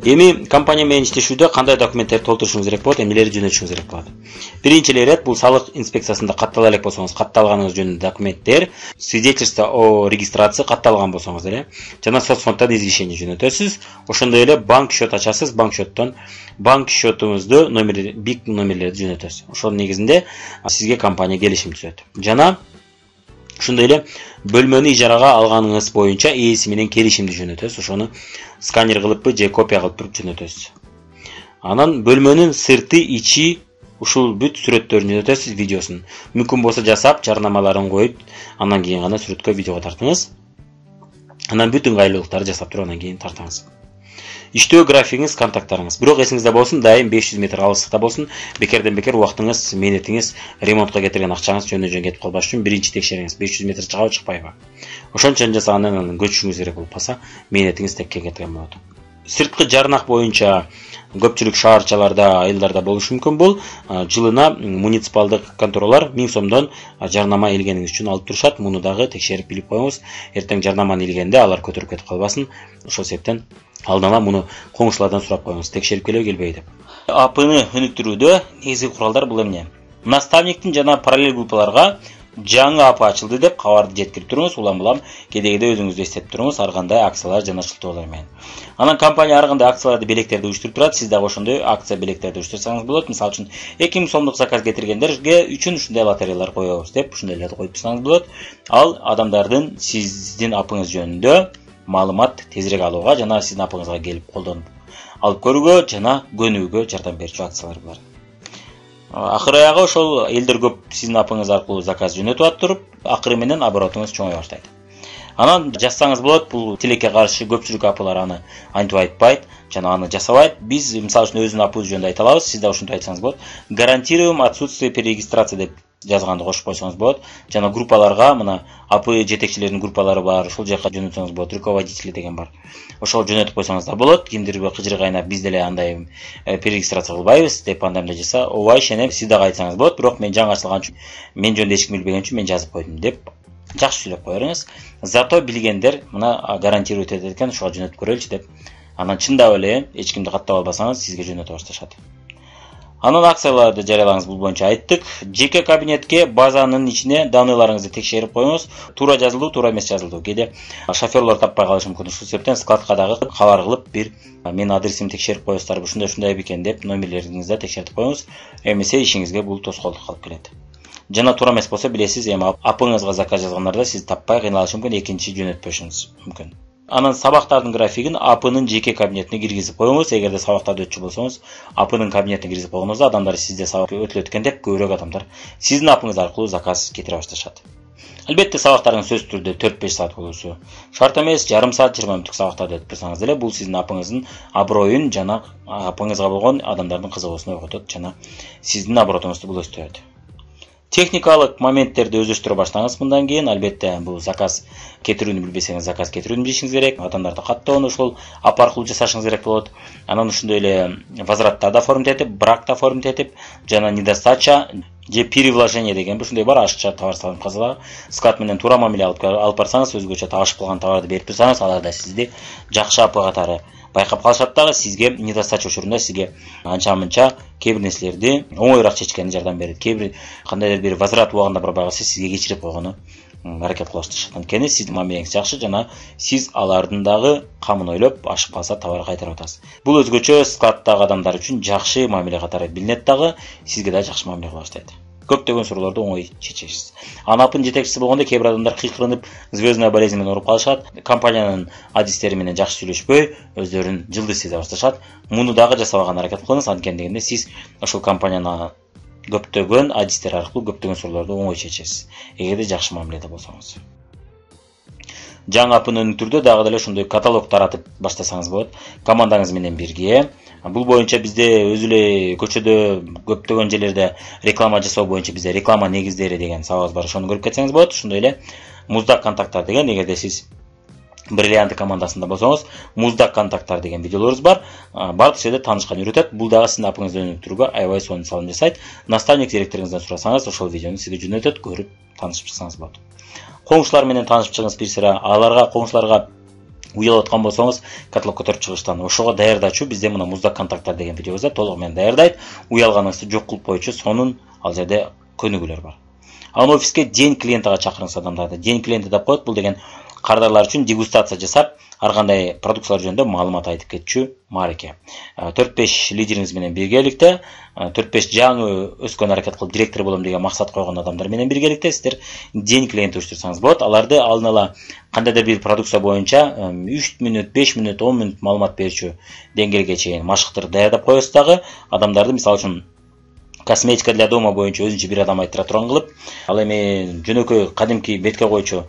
Эми компания менен иштешүүдө кандай документтерди толтурушуңуз керек болот, эмнелерди жөнөтүшүңүз керек болот. Биринчи ирет бул салык инспекциясында каттала элек болсоңуз, катталганыңыз жөнүндө документтер, свидетельство о регистрации катталган болсоңуз эле, жана соцфонддон извещение жөнөтөсүз. Ошондой эле банк счет ачасыз, банк счетуңузду бик номерлерди жөнөтөсүз. Ошонун негизинде сизге компания келишим түзөт. Жана ошондой эле бөлмөнү ижарага алганыңыз боюнча ээси менен келишимди жөнөтөсүз. Ошону сканер кылыппы же копия кылып туруп жөнөтөсүз. Анан бөлмөнүн сырты, ичи ушул бүт сүрөттөрүн жөнөтөсүз, видеосун. Мүмкүн болсо жасап, жарнамаларын коюп, андан кийин гана сүрөткө видеого тартыңыз. Анан бүт ыңгайлуулуктарды жасап туруп андан кийин тартыңыз. Иштөө графигиңиз, контакттарыңыз. Бирок эсиңизде болсун, дайым 500 метр алыстыкта болсун. Бекерден бекер убактыңыз, мээнетиңиз, ремонтко кетирген акчаңыз жөн кетип калбаш үчүн биринчи текшериңиз 500 метр чыгабы, чыкпайбы. Ошончо жасагандан анан көчүшүңүз керек болуп калса, мээнетиңиз текке кеткен болот. Сырткы жарнак боюнча көпчүлүк шаарчаларда, айылдарда болушу мүмкүн. Бул жылына муниципалдык конторалар 1000 сомдон жарнама илгениңиз үчүн алып турушат. Муну дагы текшерип билип коюңуз. Эртең жарнаманы илгенде алар көтөрүп кетип калбасын. Ошол себептен алдын ала муну коңшулардан сурап коюңуз, текшерип келбей деп. АПны өнүктүрүүдө негизги куралдар бул эмне? Наставниктин жана параллель группаларга жаңы АП ачылды деп кабарды жеткирип туруңуз. Улам кедегиде өзүңүздү эстетип туруңуз, ар кандай акциялар жана шылтоолор менен. Анан компания ар кандай акцияларды, белектерди уюштуруп турат. Сиз дагы ошондой акция белектерди уюштурсаңыз болот. Мисалы үчүн 2000 сомдук заказ кетиргендерге үчүн ушундай лотереялар коебуз деп ушундайларды коюп турсаңыз болот. Ал адамдардын сиздин апыңыз жөнүндө маалымат тезирээк алууга жана сиздин апыңызга келип колдонуп алып көрүүгө жана көнүүгө жардам берчү акциялар булар. Акыры аягы ошол элдер көп сиздин апыңыз аркылуу заказ жөнөтүп атып, акыры менен оборотуңуз чоңой баштайт. Анан жазсаңыз болот, бул тилекке каршы көпчүлүк апылар аны антип айтпайт жана аны жасабайт. Биз мисалы үчүн өзүнүн апыбыз жөнүндө айта алабыз, сиз да ушинтип айтсаңыз болот. Гарантируем отсутствие перерегистрации деп жазганды кошуп койсоңуз болот. Жана группаларга мына АП жетекчилеринин группалары бар, ошол жака жөнөтсөңүз болот. Руководители деген бар. Ошол жөнөтүп койсоңуз да болот. Кимдирби кыжыры кайнап биз деле андай перерегистрация кылбайбыз деп андайда жаса, ооба ишенем, сиз дагы айтсаңыз болот. Бирок мен жаңы ачылган үчүн, мен жөнүндө эч ким билбеген үчүн мен жазып койдум деп жакшы сүйлөп коерсиз. Зато билгендер мына гарантирует этет экен, ошого жөнөтүп көрөлүчү деп. Анан чындап эле эч кимди каттап албасаңыз, сизге жөнөтө башташат. Анан акцияларды жарыялаңыз, бул боюнча айттык. Жеке кабинетке базанын ичине данныйларыңызды текшерип коюңуз. Туура жазылдуу, туура эмес жазылдуу. Кээде шоферлор таппай калышы мүмкүн. Ушул себептен складка дагы кабар кылып бир менин адресимди текшерип коесуздарбы, ушундай бекен деп номерлериңизди текшертип коюңуз. Эмесе ишиңизге бул тоскоолдук алып келет. Жана туура эмес болсо билесиз, эми апыңызга заказ жазгандарда сиз таппай кыйналышы мүмкүн, экинчи жөнөтпөшүңүз мүмкүн. Анан сабактардын графигин АПнын жеке кабинетине киргизип коюңуз. Эгерде сабактарды өтчү болсоңуз, АПнын кабинетине киргизип койгоңузда адамдар сизде сабак өтүлөт экен деп көбүрөөк адамдар сиздин апыңыз аркылуу заказ кетире башташат. Албетте сабактардын сөзсүз түрдө 4-5 саат болуусу шарт эмес, жарым саат, 20 мүнөттүк сабактарды өтүп турсаңыз деле бул сиздин апыңыздын аброюн жана апыңызга болгон адамдардын кызыгуусун ойготот жана сиздин оборотуңузду бул өстүрөт. Техникалык моменттерди өздөштүрө баштаңыз мындан кийин. Албетте бул заказ кетирүүнү билбесеңиз, заказ кетирүүнү билишиңиз керек. Адамдарды каттоону ушул ап аркылуу жасашыңыз керек болот. Анан ошондой эле возвраттарды оформить этип, бракты оформить этип, жана недостача же перевложение деген ушундай бар, ашыкча товар салынып калса, склад менен туура мамиле алып барсаңыз, өзгөчө ашып калган товарды берип турсаңыз, алар да сизди жакшы ап катары байкап калышат дагы, сизге недостача учурунда сизге анча-мынча кээ бир нерселерди оңоюраак чечкенине жардам берет. Кээ бир кандайдыр бир возврат убагында барбай калса, сизге кечирип койгону аракет кылышат. Анткени сиздин мамилеңиз жакшы жана сиз алардын дагы камын ойлоп, ашып калса товар кайтарып атасыз. Бул өзгөчө складдагы адамдар үчүн жакшы мамиле катары билинет дагы, сизге да жакшы мамиле кыла баштайт. Көптөгөн суроолорду оңой чечесиз. Анапын жетекчиси болгондо кээ бир адамдар кыйкырынып, звездная болезнь менен ооруп калышат. Компаниянын адистери менен жакшы сүйлөшпөй, өздөрүн жылдыз сезе башташат. Муну дагы жасабаган аракет кылыңыз, анткени сиз ошол компанияны көптөгөн адистер аркылуу көптөгөн суроолорду оңой чечесиз, эгерде жакшы мамиледе болсоңуз. Жаңы апын өнүктүрүүдө дагы деле ошондой каталог таратып баштасаңыз болот, командаңыз менен бирге. Бул боюнча бизде өзү эле көчөдө көптөгөн жерлерде реклама жасоо боюнча бизде реклама негиздери деген сабагыбыз бар. Ошону көрүп кетсеңиз болот. Ошондой эле муздак контакттар деген, эгерде сиз бриллианты командасында болсоңуз, муздак контакттар деген видеолорубуз бар. Бардык жерде таанышкан үйрөтөт. Бул дагы сиздин апыңызды өнүктүрүүгө аябай сонун салым жасайт. Наставник директоруңуздан сурасаңыз, ошол видеону сизге жөнөтөт, көрүп таанышып чыксаңыз болот. Коңшулар менен таанышып чыгыңыз бир сыра. Аларга, коңшуларга уялып аткан болсоңуз каталог көтөрүп чыгыштан ошого даярдачу бизде мына муздак контакттар деген видеобузда толугу менен даярдайт. Уялганыңызды жок кылып коючу сонун ал жерде көнүгүүлөр бар. Анан офиске день клиентага чакырыңыз адамдарды. День клиенти деп коет. Бул деген кардарлар үчүн дегустация жасап, ар кандай продукциялар жөнүндө маалымат айтып кетчү маареке. 4-5 лидериңиз менен биргеликте, 4-5 жаңы өскөн аракет кылып директор болом деген максат койгон адамдар менен биргеликте сиздер день клиент уюштурсаңыз болот. Аларды алдын ала кандайдыр бир продукция боюнча 3 мүнөт, 5 мүнөт, 10 мүнөт маалымат берүүчү деңгээлге чейин машыктырып даярдап коесуз дагы. Адамдарды мисалы үчүн косметика для дома боюнча өзүнчө бир адам айтыра турган кылып, ал эми жөнөкөй кадимки бетке койчу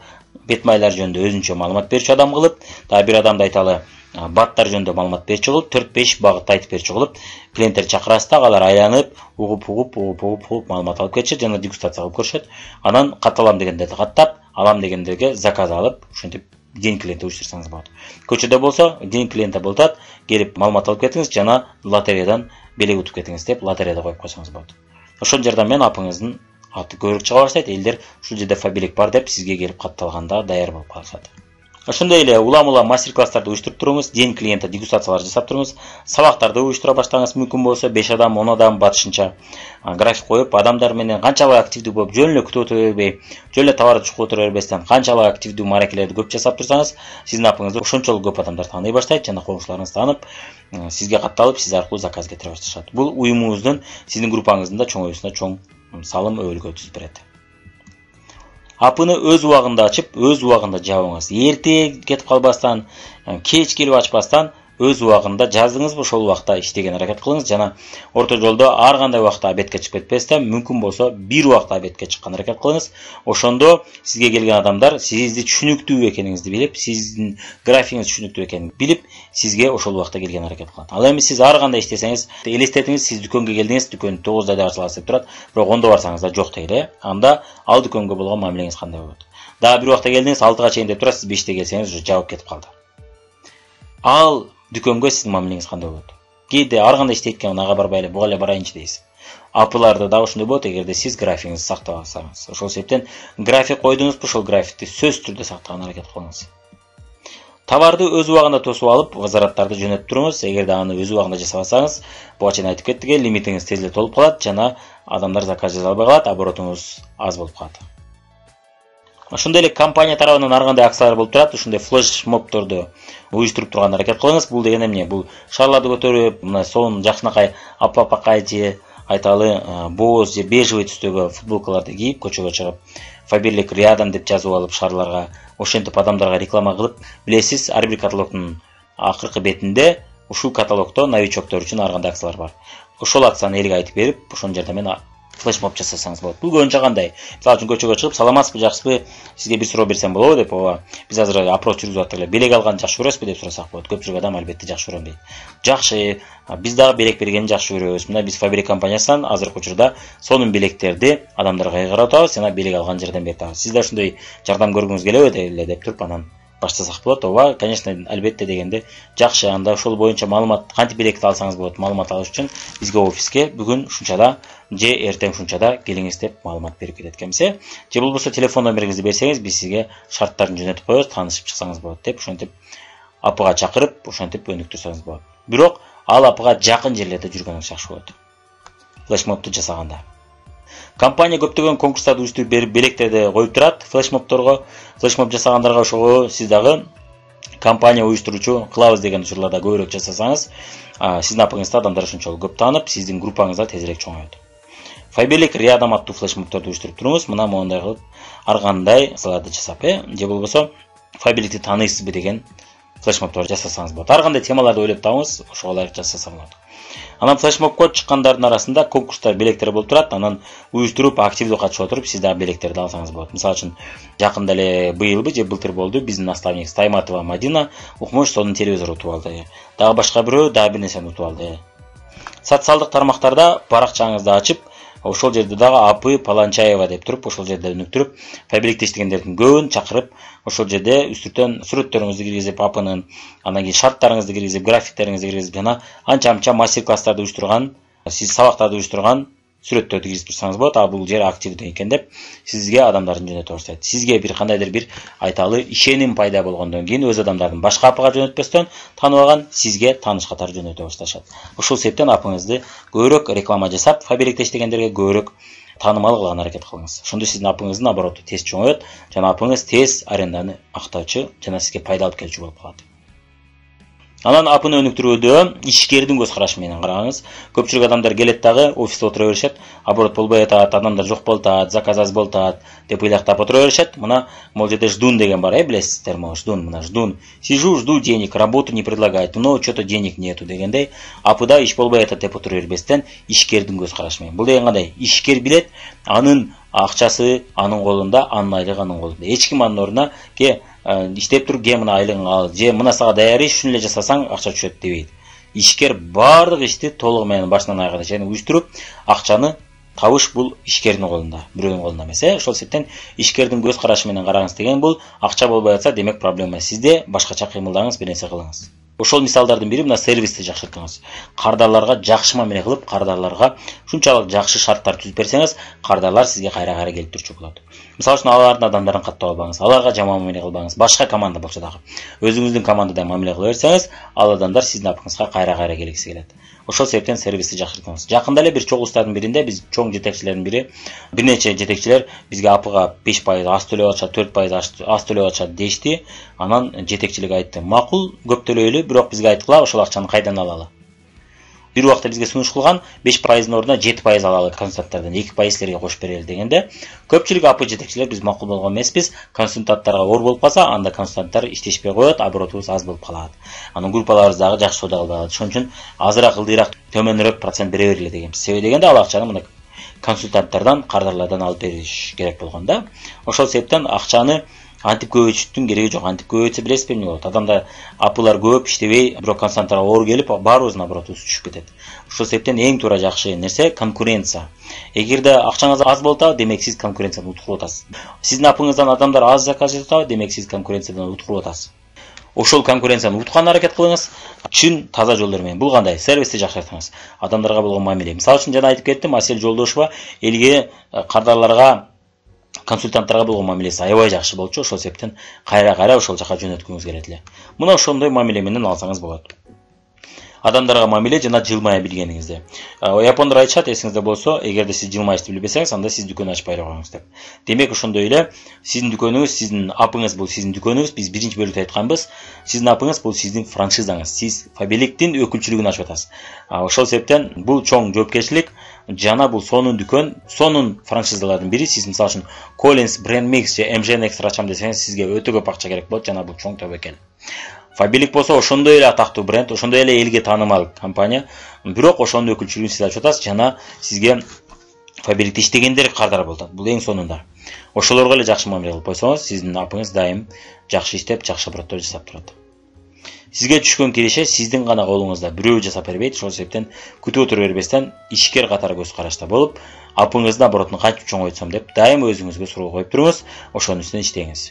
бет майлар жөнүндө өзүнчө маалымат берүүчү адам кылып, дагы бир адамды айталы баттар жөнүндө маалымат берүүчү кылып, 4-5 багытты айтып берүүчү кылып, клиенттер чакырасыз да, алар айланып, угуп маалымат алып кетишет жана дегустация кылып көрүшөт. Анан катталам дегендерди каттап, алам дегендерге заказ алып, ошентип день клиенти уюштурсаңыз болот. Көчөдө болсо, день клиенти болот, келип маалымат алып кетиңиз жана лотереядан белек утуп кетиңиз деп лотереяда коюп койсоңуз болот. Ошол жерден менен апыңыздын аты көбүрөөк чыга баштайт, элдер ушул жерде фабилик бар деп сизге келип катталганда даяр болуп калышат. Ошондой эле улам-улам мастер-класстарды уюштуруп туруңуз, день клиенти дегустациялар жасап туруңуз, сабактарды уюштура баштаңыз, мүмкүн болсо 5 адам, 10 адам батышынча график коюп, адамдар менен канчалык активдүү болуп, жөн эле күтүп отура бербей, жөн эле товарды чукуп отура бербестен канчалык активдүү маарекелерди көп жасап турсаңыз, сиздин апыңызды ошончолук көп адамдар тааный баштайт жана коңшуларыңыз таанып, сизге катталып, сиз аркылуу заказ кетире башташат. Бул уюмуңуздун, сиздин группаңыздын да чоңоюусуна чоң салым өбөлгө түзүп берет. Апыны өз убагында ачып, өз убагында жабыңыз. Эрте кетип калбастан, кеч келип ачпастан, өз убагында жаздыңызбы ошол убакта иштеген аракет кылыңыз жана орто жолдо ар кандай убакта обедке чыгып кетпестен, мүмкүн болсо бир убакта обедке чыккан аракет кылыңыз. Ошондо сизге келген адамдар сизди түшүнүктүү экениңизди билип, сиздин графигиңиз түшүнүктүү экенин билип, сизге ошол убакта келген аракет кылат. Ал эми сиз ар кандай иштесеңиз, элестетиңиз, сиз дүкөнгө келдиңиз, дүкөн 9-да да ачыласы деп турат, бирок 10-да барсаңыз да жок дейли, анда ал дүкөнгө болгон мамилеңиз кандай болот? Дагы бир убакта келдиңиз, 6-га чейин деп турат, сиз 5-те келсеңиз уже жабып кетип калды. Ал дүкөнгө сиздин мамилеңиз кандай болот? Кээде ар кандай иштейт экен, ага барбай эле, буга эле барайынчы дейсиз. Апыларды дагы ошондой болот, эгерде сиз графигиңизди сактап алсаңыз. Ошол себептен график койдуңузбу, ошол графикти сөзсүз түрдө сактаган аракет кылыңыз. Товарды өз убагында тосуп алып, возвраттарды жөнөтүп туруңуз. Эгерде аны өз убагында жасабасаңыз, буга чейин айтып кеттик, лимитиңиз тез эле толуп калат жана адамдар заказ жаза албай калат, оборотуңуз аз болуп калат. Ошондой эле компания тарабынан ар кандай акциялар болуп турат, ушундай флеш-мобторду уюштуруп турган аракет кылыңыз. Бул деген эмне? Бул шарларды көтөрүп, мына сонун жакшынакай аппакай же айталы боз же бежевый түстөгү футболкаларды кийип, көчөгө чыгып, фаберлик рядом деп жазып алып шарларга, ошентип адамдарга реклама кылып, билесиз, ар бир каталогдун акыркы бетинде ушул каталогдо новичоктор үчүн ар кандай акциялар бар. Ошол акцияны элге айтып берип, ошол жерде мен флешмоб жасасаңыз болот. Бул көбүнчө кандай? Мисалы үчүн көчөгө чыгып, саламатсызбы, жакшысызбы, сизге бир суроо берсем болобу деп, ооба. Биз азыр опрос жүргүзүп аттык эле. Белек алганды жакшы көрөсүзбү деп сурасак болот. Көпчүлүк адам албетте жакшы көрөм дейт. Жакшы, биз дагы белек бергенди жакшы көрөбүз. Мына биз Фабрик компаниясынан азыркы учурда сонун белектерди адамдарга кайгарып атабыз жана белек алган жерден берип атабыз. Сиз да ошондой жардам көргүңүз келеби эле деп туруп анан баштасак болот. Ооба, конечно, албетте дегенде жакшы. Анда ошол боюнча маалымат, кантип белекти алсаңыз болот, маалымат алыш үчүн бизге офиске бүгүн ушунчада же эртең ушунчада келиңиз деп маалымат берип кетет экенбиз. Же болбосо телефон номериңизди берсеңиз, биз сизге шарттарын жөнөтүп коебуз, таанышып чыксаңыз болот деп, ошентип апыга чакырып, ошентип өнүктүрсөңүз болот. Бирок ал апыга жакын жерлерде жүргөнүңүз жакшы болот. Флешмобду жасаганда. Компания көптөгөн конкурстарды уюштуруп берип, белектерди коюп турат флешмобторго. Флешмоб жасагандарга ошого сиз дагы компания уюштуруучу кылабыз деген учурларда көбүрөөк жасасаңыз, сиздин апыңызды адамдар ошончолук көп таанып, сиздин группаңыз да тезирээк чоңоет. Фаберлик рядом аттуу флешмобторду уюштуруп туруңуз. Мына моундай кылып ар кандай акцияларды жасап, же болбосо Фаберликти тааныйсызбы деген флешмобтор жасасаңыз болот. Ар кандай темаларды ойлоп табыңыз, ошого ылайык жасасаңыз болот. Анан флешмобко чыккандардын арасында конкурстар, белектер болуп турат. Анан уюштуруп, активдүү катышып отуруп, сиз дагы белектерди алсаңыз болот. Мисалы үчүн, жакында эле быйылбы же былтыр болду, биздин наставник Стайматова Мадина укмуш сонун телевизор утуп алды. Дагы башка бирөө дагы бир нерсени утуп алды. Социалдык тармактарда баракчаңызды ачып, ошол жерде дагы Апы Паланчаева деп туруп, ошол жерде өнүктүрүп, фабрикте иштегендердин көбүн чакырып, ошол жерде үстүртөн сүрөттөрүңүздү киргизип, Апынын, анан кийин шарттарыңызды киргизип, графиктериңизди киргизип жана анча-мынча мастер-класстарды уюштурган, сиз сабактарды уюштурган сүрөттөрдү киргизип турсаңыз болот. А бул жер активдүү экен деп сизге адамдарды жөнөтө баштайт. Сизге бир кандайдыр бир айталы ишеним пайда болгондон кийин өз адамдарын башка апыга жөнөтпөстөн тааныбаган сизге тааныш катары жөнөтө башташат. Ошол себептен апыңызды көбүрөөк реклама жасап, фабрикте иштегендерге көбүрөөк таанымал кылган аракет кылыңыз. Ошондо сиздин апыңыздын обороту тез чоңоет жана апыңыз тез аренданы актоочу жана сизге пайда алып келүүчү болуп калат. Анан апыны өнүктүрүүдө ишкердин көз карашы менен караңыз. Көпчүлүк адамдар келет дагы офисте отура беришет, оборот болбой атат, адамдар жок болуп атат, заказ аз болуп атат деп ыйлактап отура беришет. Мына могул жерде ждун деген бар, билесиздер, могу ждун, мына ждун. Сижу, жду денег, работу не предлагает, но что-то денег нету дегендей, апыда иш болбой атат деп отура бербестен ишкердин көз карашы менен. Бул деген кандай? Ишкер билет, анын акчасы анын колунда, анын айлыгы анын колунда. Эч ким анын ордуна иштеп туруп, мына айлыгыңды ал, же мына сага даяр иш, ушун эле жасасаң акча түшөт дебейт. Ишкер баардык ишти толугу менен башынан аягына чейин уюштуруп, акчаны табыш бул ишкердин колунда, бирөөнүн колунда эмес. Ошол себептен ишкердин көз карашы менен караңыз деген бул акча болбой атса, демек проблема сизде, башкача кыймылдаңыз, бир нерсе кылыңыз. Ошол мисалдардын бири мына сервисти жакшыртыңыз. Кардарларга жакшы мамиле кылып, кардарларга шунчалык жакшы шарттар түзүп берсеңиз, кардарлар сизге кайра-кайра келип турчу болот. Мисалы үчүн алардын адамдарын каттап албаңыз, аларга жаман мамиле кылбаңыз. Башка команда болсо дагы өзүңүздүн командада мамиле кыла берсеңиз, ал адамдар сиздин апыңызга кайра-кайра келгиси келет. Ошол себептен сервисти жакшыртыңыз. Жакында эле бир чогулуштардын биринде биз чоң жетекчилердин бири, бир нече жетекчилер бизге апыга 5% аз төлөп атышат, 4% аз төлөп атышат дешти. Анан жетекчилик айтты: "Макул, көп төлөйлү, бирок бизге айткыла, ошол акчаны кайдан алалы?" Бир убакта бизге сунуш кылган 5%-ын ордуна 7% алалы консультанттардан, 2% силерге кошуп берели дегенде, көпчүлүк апы жетекчилер биз макул болгон эмеспиз, консультанттарга оор болуп калса, анда консультанттар иштешпей коет, оборотубуз аз болуп калат. Анын группаларыбыз дагы жакшы соода кылбай калат. Ошон үчүн азыраак ылдыйраак, төмөнүрөөк процент бере бергиле дегенбиз. Себеби дегенде ал акчаны мына консультанттардан, кардарлардан алып бериш керек болгон да. Ошол себептен акчаны антип көбөйтүштүн кереги жок. Антип көбөйтсө билесизби эмне болот? Адамда апылар көп иштебей, бирок консультанттарга оор келип, баарыбыздын оборотубуз түшүп кетет. Ошол себептен эң туура жакшы нерсе конкуренция. Эгерде акчаңыз аз болуп атат, демек сиз конкуренциядан утулуп атасыз. Сиздин апыңыздан адамдар аз заказ жасап атат, демек сиз конкуренциядан утулуп атасыз. Ошол конкуренцияны уткан аракет кылыңыз, чын таза жолдор менен. Бул кандай? Сервисти жакшыртыңыз. Адамдарга болгон мамиле. Мисалы үчүн жана айтып кеттим, Асель Жолдошова элге кардарларга, консультанттарга болгон мамилеси аябай жакшы болчу. Ошол себептен кайра-кайра ошол жака жөнөткүңүз келет эле. Мына ошондой мамиле менен алсаңыз болот. Адамдарга мамиле жана жылмая билгениңизде. Япондор айтышат, эсиңизде болсо, эгерде сиз жылмайышты билбесеңиз, анда сиз дүкөн ачпай эле коюңуз деп. Демек ошондой эле сиздин дүкөнүңүз, сиздин апыңыз бул сиздин дүкөнүңүз. Биз биринчи бөлүктө айтканбыз, сиздин апыңыз бул сиздин франшизаңыз. Сиз фабриктин өкүлчүлүгүн ачып атасыз. Ошол себептен бул чоң жоопкерчилик жана бул сонун дүкөн, сонун франшизалардын бири. Сиз мисалы үчүн Collins, Brand Mix же MGN Extra ачам десеңиз, сизге өтө көп акча керек болот жана бул чоң тобокел. Фабрик болсо ошондой эле атактуу бренд, ошондой эле элге таанымал компания, бирок ошонун өкүлчүлүгүн сиз ачып атасыз жана сизге фабрикте иштегендер кардар болот. Бул эң сонунда. Ошолорго эле жакшы мамиле кылып койсоңуз, сиздин апыңыз дайым жакшы иштеп, жакшы обороттор жасап турат. Сизге түшкөн киреше сиздин гана колуңузда, бирөө жасап бербейт. Ошол себептен күтүп отура бербестен ишкер катары көз карашта болуп, апыңыздын оборотун кантип чоңойтсом деп дайым өзүңүзгө суроо коюп туруңуз, ошонун үстүнөн иштеңиз.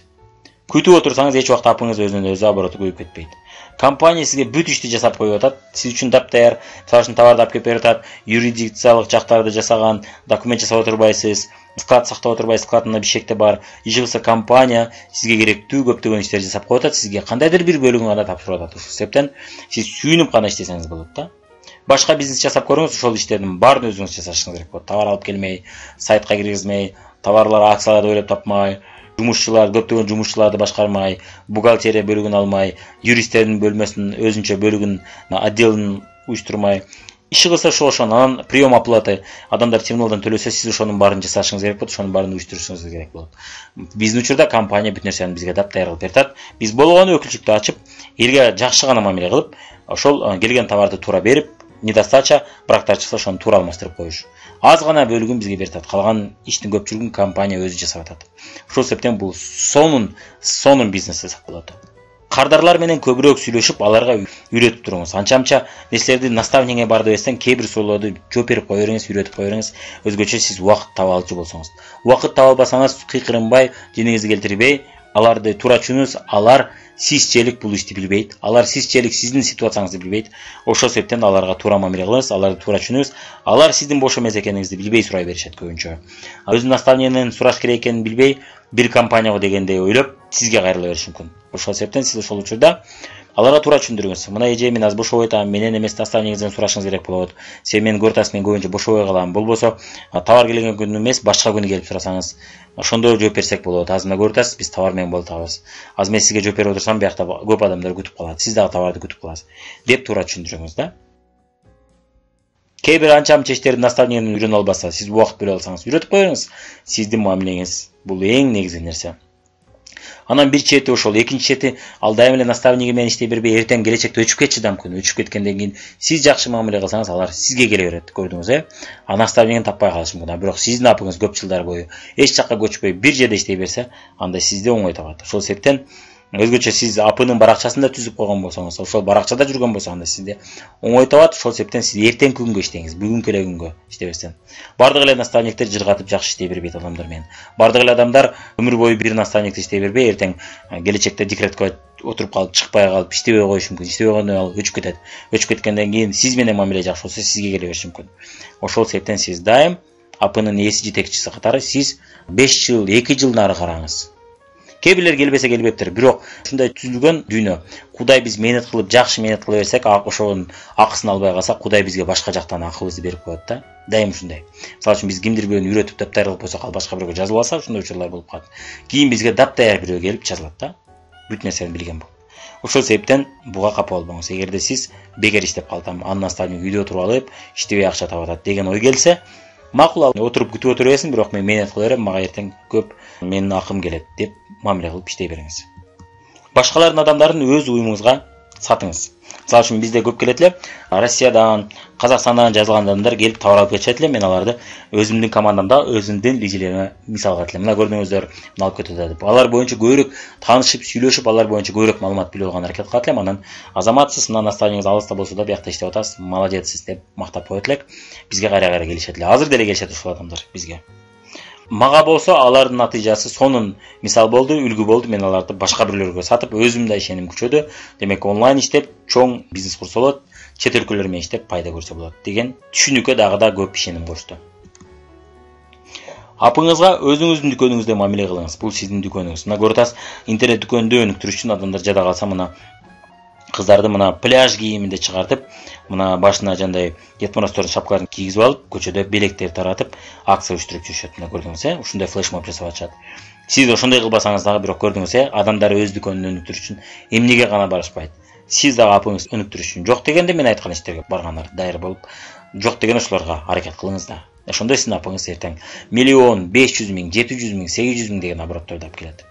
Күтүп отурсаңыз эч убакта апыңыз өзүнөн өзү обороту көбөйүп кетпейт. Компания сизге бүт ишти жасап коюп атат, сиз үчүн таптаяр, мисалы үчүн товарды алып келип берип атат, юридикциялык жактарды жасаган, документ жасап отурбайсыз, склад сактап отурбайсыз, складында бишекте бар. Иши кылса компания сизге керектүү көптөгөн иштерди жасап коюп атат, сизге кандайдыр бир бөлүгүн гана тапшырып атат. Ошол себептен сиз сүйүнүп гана иштесеңиз болот да. Башка бизнес жасап көрүңүз, ошол иштердин баарын өзүңүз жасашыңыз керек болот. Товар алып келмей, сайтка киргизмей, товарлар, акцияларды ойлоп тапмай, жумушчулар, көптөгөн жумушчуларды башкармай, бухгалтерия бөлүгүн алмай, юристтердин бөлмөсүнүн өзүнчө бөлүгүн, отделин уюштурмай, иши кылса ошон, анан прием оплаты, адамдар терминалдан төлөсө, сиз ошонун баарын жасашыңыз керек болот, ошонун баарын уюштурушуңуз керек болот. Биздин учурда компания бүт нерсени бизге даяр кылып берет. Биз болгону өкүлчүлүктү ачып, элге жакшы гана мамиле кылып, ошол келген товарды туура берип, недостача, брактар чыкса ошону туура алмаштырып коюш. Аз гана бөлүгүн бизге берет. Калган иштин көпчүлүгүн компания өзү жасап атат. Ошол себептен бул сонун бизнес десек болот. Кардарлар менен көбүрөөк сүйлөшүп, аларга үйрөтүп туруңуз. Анча-мынча нерселерди наставнигиңе барды десең, кээ бир суроолорду жооп берип кое бериңиз, үйрөтүп кое бериңиз. Өзгөчө сиз убакыт таба алчу болсоңуз. Убакыт таба албасаңыз, кыйкырынбай, жеңиңизди келтирбей, аларды туура түшүнүңүз, алар сизчелик бул ишти билбейт. Алар сизчелик сиздин ситуацияңызды билбейт. Ошол себептен аларга туура мамиле кылыңыз, аларды туура түшүнүңүз. Алар сиздин бош эмес экениңизди билбей сурай беришет көбүнчө. Өзүнүн наставнигинен сураш керек экенин билбей, бир компанияга дегенде ойлоп, сизге кайрыла бериши мүмкүн. Ошол себептен сиз ошол учурда аларга туура түшүндүрүңүз. Мына эже, мен азыр бошобой атам, менен эмес наставнигиңизден сурашыңыз керек болот. Сен мени көрүп атасың, мен көбүнчө бошобой калам. Болбосо товар келген күнү эмес, башка күнү келип сурасаңыз, ошондо жооп берсек болот. Азыр мына көрүп атасыз, биз товар менен болуп атабыз. Азыр мен сизге жооп берип отурсам, биякта көп адамдар күтүп калат. Сиз дагы товарды күтүп каласыз деп туура түшүндүрүңүз да. Кээ бир анча-мынча иштерди наставнигинен үйрөнө албаса, сиз убакыт бөлө алсаңыз, үйрөтүп кое бериңиз. Сиздин мамилеңиз бул эң негизги нерсе. Анан бир чети ошол, экинчи чети ал дайым эле наставниги менен иштей бербей, эртең келечекте өчүп кетчү да мүмкүн. Өчүп кеткенден кийин сиз жакшы мамиле кылсаңыз, алар сизге келе берет, көрдүңүз наставнигин таппай калышы мүмкүн. Бирок сиздин апыңыз көп жылдар бою эч жакка көчпөй бир жерде иштей берсе, анда сизди оңой табат. Ошол себептен өзгөчө сиз апынын баракчасын да түзүп койгон болсоңуз, ошол баракчада жүргөн болсо, анда сизди оңой табат. Ошол себептен сиз эртеңки күнгө иштеңиз, бүгүнкү эле күнгө иштебестен. Бардык эле наставниктер жыргатып жакшы иштей бербейт адамдар менен. Бардык эле адамдар өмүр бою бир наставникти иштей бербей, эртең келечекте декретке отуруп калып, чыкпай калып, иштебей коюшу мүмкүн. Иштебей койгондон ал өчүп кетет. Өчүп кеткенден кийин сиз менен мамиле жакшы болсо, сизге келе бериши мүмкүн. Ошол себептен сиз дайым апынын ээси жетекчиси катары сиз 5 жыл, 2 жыл нары караңыз. Кээ бирлер келбесе келбептир, бирок ушундай түзүлгөн дүйнө. Кудай биз менет кылып, жакшы менет кыла берсек, ошонун акысын албай калсак, Кудай бизге башка жактан акыбызды берип коет да. Дайым ушундай. Мисалы үчүн биз кимдир бирөөнү үйрөтүп даптай кылып койсок, ал башка бирөөгө жазылып алса, ушундай учурлар болуп калат. Кийин бизге дапдаяр бирөө келип жазылат да. Бүт нерсени билген болуп. Ошол себептен буга капа болбоңуз. Эгерде сиз бекер иштеп калдым, анын наставник үйдө отуруп алып, иштебей акча таап атат деген ой келсе, макул, отуруп күтүп отура берсин, бирок мен менет кыла берем, мага эртең көп менин акым келет деп мамиле кылып иштей бериңиз. Башкалардын адамдарын өз уюмуңузга сатыңыз. Мисалы үчүн бизде көп келет эле Россиядан, Казакстандан жазылган адамдар келип товар алып кетишет эле. Мен аларды өзүмдүн командамда, өзүмдүн лидерлериме мисал кылат элем. Мына көрдүңүздөр, мына алып кетип атат деп. Алар боюнча көбүрөөк таанышып, сүйлөшүп, алар боюнча көбүрөөк маалымат билип алганга аракет кылат элем. Анан азаматсыз, мына наставнигиңиз алыста болсо да, биякта иштеп атасыз, молодецсиз деп мактап коет элек. Бизге кайра келишет эле. Азыр деле келишет ушул адамдар бизге. Мага болсо алардын натыйжасы сонун мисал болду, үлгү болду. Мен аларды башка бирлөргө сатып, өзүм да ишеним күчөдү. Демек онлайн иштеп, чоң бизнес курса болот, чет өлкөлөр менен иштеп пайда көрсө болот деген түшүнүккө дагы да көп ишеним кошту. Апыңызга өзүңүздүн дүкөнүңүздө мамиле кылыңыз. Бул сиздин дүкөнүңүз. Мына көрүп атасыз, интернет дүкөндө өнүктүрүш үчүн адамдар жада калса, мына кыздарды мына пляж кийиминде чыгартып, мына башына жандай Дед Морозтордун шапкаларын кийгизип алып, көчөдө белектер таратып, акция уюштуруп жүрүшөт. Мына көрдүңүз, ушундай флешмоб жасап атышат. Сиз ошондой кылбасаңыз дагы, бирок көрдүңүз, адамдар өз дүкөнүн өнүктүрүш үчүн эмнеге гана барышпайт. Сиз дагы апыңыз өнүктүрүш үчүн жок дегенде мен айткан иштерге баргандар дайыр болуп, жок деген ошолорго аракет кылыңыз да. Ошондо сиздин апыңыз эртең 1 миллион, 500 миң, 700 миң, 800 миң деген оборотторду алып келет.